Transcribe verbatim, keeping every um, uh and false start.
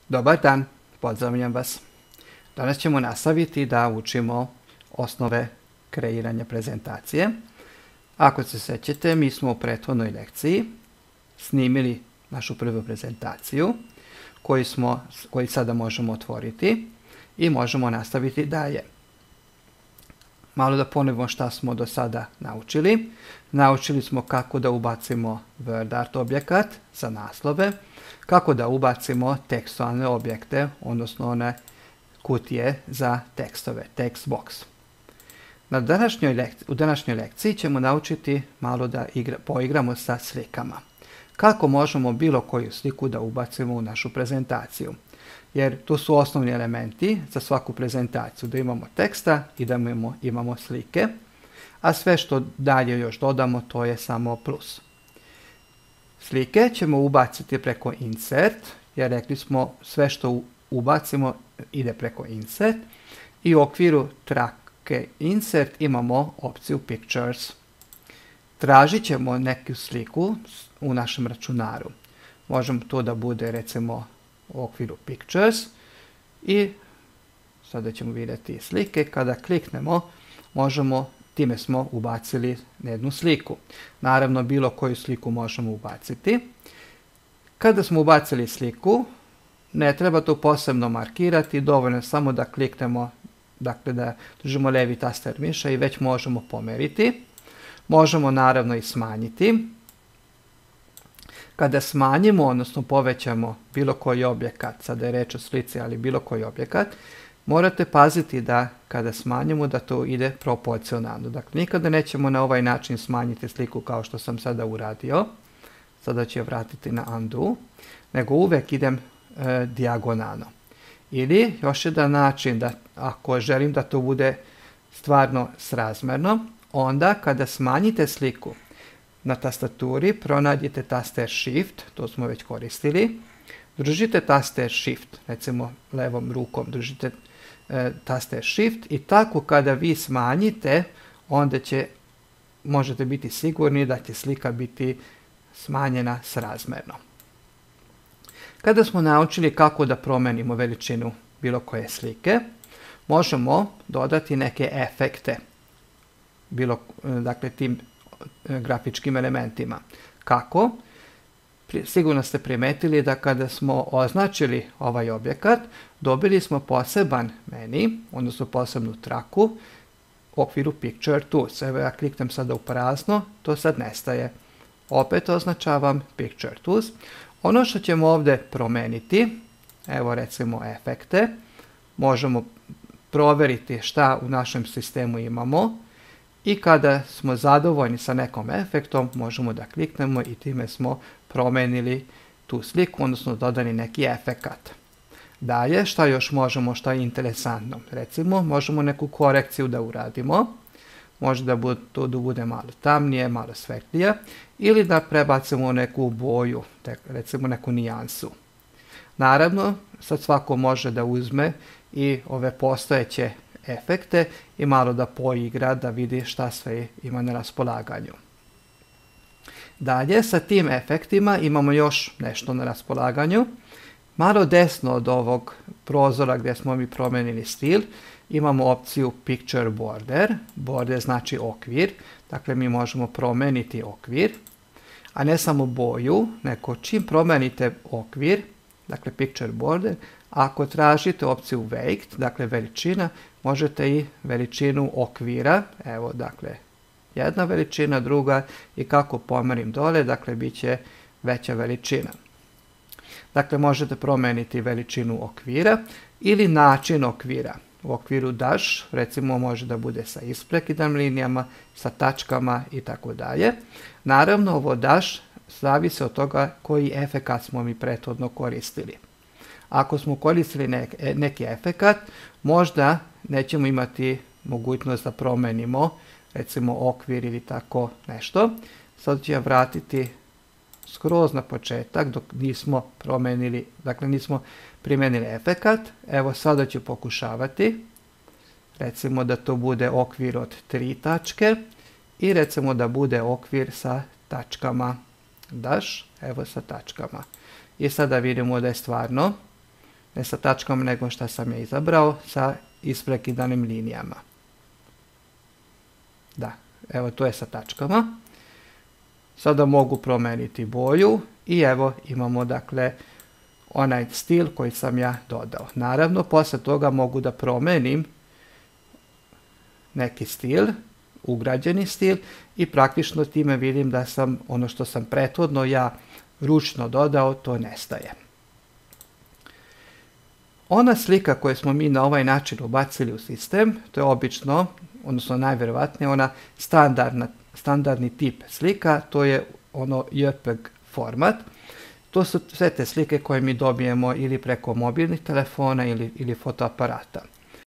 Dobar dan, pozdravljam vas. Danas ćemo nastaviti da učimo osnove kreiranja prezentacije. Ako se sjećate, mi smo u prethodnoj lekciji snimili našu prvu prezentaciju koju, smo, koju sada možemo otvoriti i možemo nastaviti dalje. Malo da ponovimo šta smo do sada naučili. Naučili smo kako da ubacimo WordArt objekat za naslove, kako da ubacimo tekstualne objekte, odnosno one kutije za tekstove, text box. Na današnjoj lekciji, u današnjoj lekciji ćemo naučiti malo da igra, poigramo sa slikama. Kako možemo bilo koju sliku da ubacimo u našu prezentaciju. Jer tu su osnovni elementi za svaku prezentaciju, da imamo teksta i da imamo, imamo slike, a sve što dalje još dodamo to je samo plus. Slike ćemo ubaciti preko insert, jer rekli smo sve što ubacimo ide preko insert i u okviru trake insert imamo opciju pictures. Tražit ćemo neku sliku u našem računaru. Možemo to da bude recimo u okviru pictures i sada ćemo vidjeti slike. Kada kliknemo možemo, time smo ubacili jednu sliku. Naravno bilo koju sliku možemo ubaciti. Kada smo ubacili sliku ne treba to posebno markirati, dovoljno samo da kliknemo, dakle da držimo levi taster miša i već možemo pomeriti. Možemo naravno i smanjiti. Kada smanjimo, odnosno povećamo bilo koji objekat, sada je reč o slici, ali bilo koji objekat, morate paziti da kada smanjimo da to ide proporcionalno. Dakle, nikada nećemo na ovaj način smanjiti sliku kao što sam sada uradio. Sada ću je vratiti na undo, nego uvek idem e, dijagonalno. Ili još jedan način, da ako želim da to bude stvarno srazmerno, onda kada smanjite sliku na tastaturi, pronađite taster Shift, to smo već koristili, držite taster Shift, recimo levom rukom držite e, taster Shift i tako kada vi smanjite, onda će, možete biti sigurni da će slika biti smanjena srazmerno. Kada smo naučili kako da promenimo veličinu bilo koje slike, možemo dodati neke efekte, bilo, dakle tim grafičkim elementima. Kako? Sigurno ste primetili da kada smo označili ovaj objekat, dobili smo poseban meni, odnosno posebnu traku u okviru Picture Tools. Evo ja kliknem sada u prazno, to sad nestaje. Opet označavam Picture Tools. Ono što ćemo ovdje promeniti, evo recimo efekte, možemo provjeriti šta u našem sistemu imamo i kada smo zadovoljni sa nekom efektom možemo da kliknemo i time smo promenili tu sliku, odnosno dodani neki efekat. Dalje, šta još možemo, šta je interesantno? Recimo, možemo neku korekciju da uradimo. Može da bude, to da bude malo tamnije, malo svetlije, ili da prebacimo neku boju, recimo neku nijansu. Naravno, sad svako može da uzme i ove postojeće efekte i malo da poigra, da vidi šta sve ima na raspolaganju. Dalje, sa tim efektima imamo još nešto na raspolaganju. Malo desno od ovog prozora gdje smo mi promenili stil, imamo opciju Picture Border. Border znači okvir, dakle mi možemo promeniti okvir, a ne samo boju, nego čim promenite okvir, dakle Picture Border, ako tražite opciju Weight, dakle veličina, možete i veličinu okvira, evo dakle jedna veličina, druga i kako pomerim dole, dakle bit će veća veličina. Dakle možete promeniti veličinu okvira ili način okvira. U okviru dash, recimo može da bude sa isprekidnim linijama, sa tačkama i tako dalje. Naravno ovo dash zavisi od toga koji efekat smo mi prethodno koristili. Ako smo koristili nek, neki efekat, možda nećemo imati mogućnost da promenimo recimo okvir ili tako nešto. Sad ću ja vratiti skroz na početak dok nismo promenili, dakle nismo primijenili efekat. Evo sada ću pokušavati. Recimo da to bude okvir od tri tačke i recimo da bude okvir sa tačkama. Dash, evo sa tačkama. I sada vidimo da je stvarno ne sa tačkom, nego što sam je izabrao sa isprekidanim linijama. Da, evo to je sa tačkama. Sada mogu promijeniti boju i evo imamo dakle onaj stil koji sam ja dodao. Naravno, posle toga mogu da promenim neki stil, ugrađeni stil, i praktično time vidim da sam ono što sam prethodno ja ručno dodao, to nestaje. Ona slika koju smo mi na ovaj način ubacili u sistem, to je obično, odnosno najvjerovatnije ona standardna, standardni tip slika, to je ono J P G format. To su sve te slike koje mi dobijemo ili preko mobilnih telefona ili, ili fotoaparata.